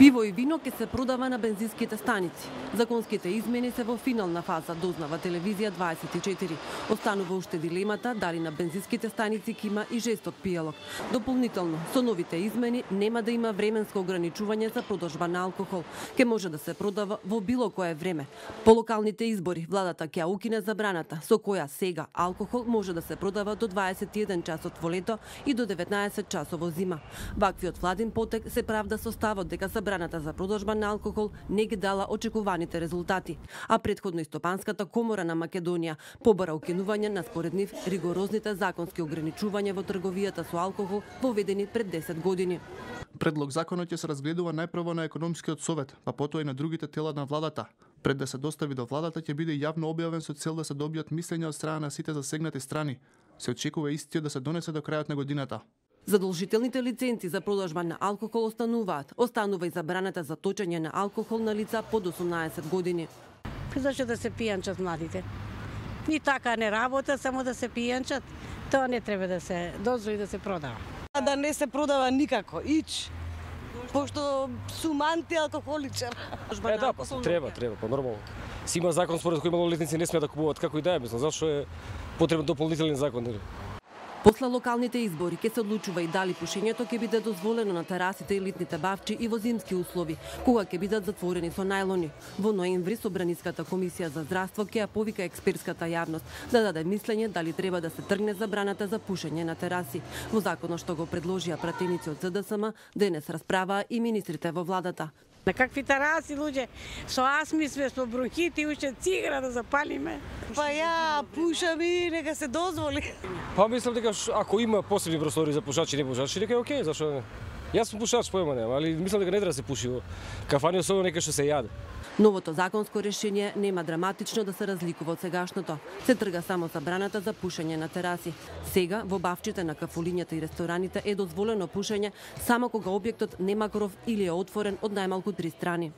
Пиво и вино ќе се продава на бензинските станици. Законските измени се во финална фаза, дознава Телевизија 24. Останува уште дилемата дали на бензинските станици ќе има и жесток пијалок. Дополнително, со новите измени нема да има временско ограничување за продажба на алкохол. Ке може да се продава во било кое време. По локалните избори, владата ќе укине забраната, со која сега алкохол може да се продава до 21 часот во лето и до 19 часот во зима. Ваквиот владин потек се правда со ставот дека забраната за продажба на алкохол не ги дала очекуваните резултати, а претходно и Стопанската комора на Македонија побара укинување на според нив ригорозните законски ограничувања во трговијата со алкохол воведени пред 10 години. Предлог законот ќе се разгледува најпрво на економскиот совет, па потоа и на другите тела на владата. Пред да се достави до владата ќе биде јавно објавен со цел да се добијат мислења од страна на сите засегнати страни. Се очекува истиот да се донесе до крајот на годината. Задолжителните лиценци за продажба на алкохол остануваат. Останува и забраната за точење на алкохол на лица под 18 години. Зашто да се пијанчат младите? Ни така не работа, само да се пијанчат. Тоа не треба да се дозволи да се продава. Да не се продава никако, пошто сум антиалкохоличар. Да, па треба, па нормално. Си има закон според кој малолетници не смеат да купуваат како и да е, мислам, зашто е потребен дополнителен закон. После локалните избори ќе се одлучува и дали пушењето ќе биде дозволено на терасите и летните бавчи и во зимски услови, кога ќе бидат затворени со најлони. Во ноември Собраниската комисија за здравство ќе ја повика експертската јавност да даде мислење дали треба да се тргне забраната за пушење на тераси. Во законот што го предложија пратеници од ЗДСМ, денес расправаа и министрите во владата. На какви тераси, луѓе, со астми сме, со бронхити, уште цигара да запалиме. Па ја пушам и нека се дозволи. Па мислам дека ако има посебни простори за пушачи и не пушачи, дека е окей, зашто не? Јас сум пушач, поема нема, али мислам дека не треба да се пуши во кафани, особено нека што се јаде. Новото законско решение нема драматично да се разликува од сегашното. Се трга само забраната за пушење на тераси. Сега во бавчите на кафулињата и рестораните е дозволено пушење само кога објектот нема кров или е отворен од најмалку 3 страни.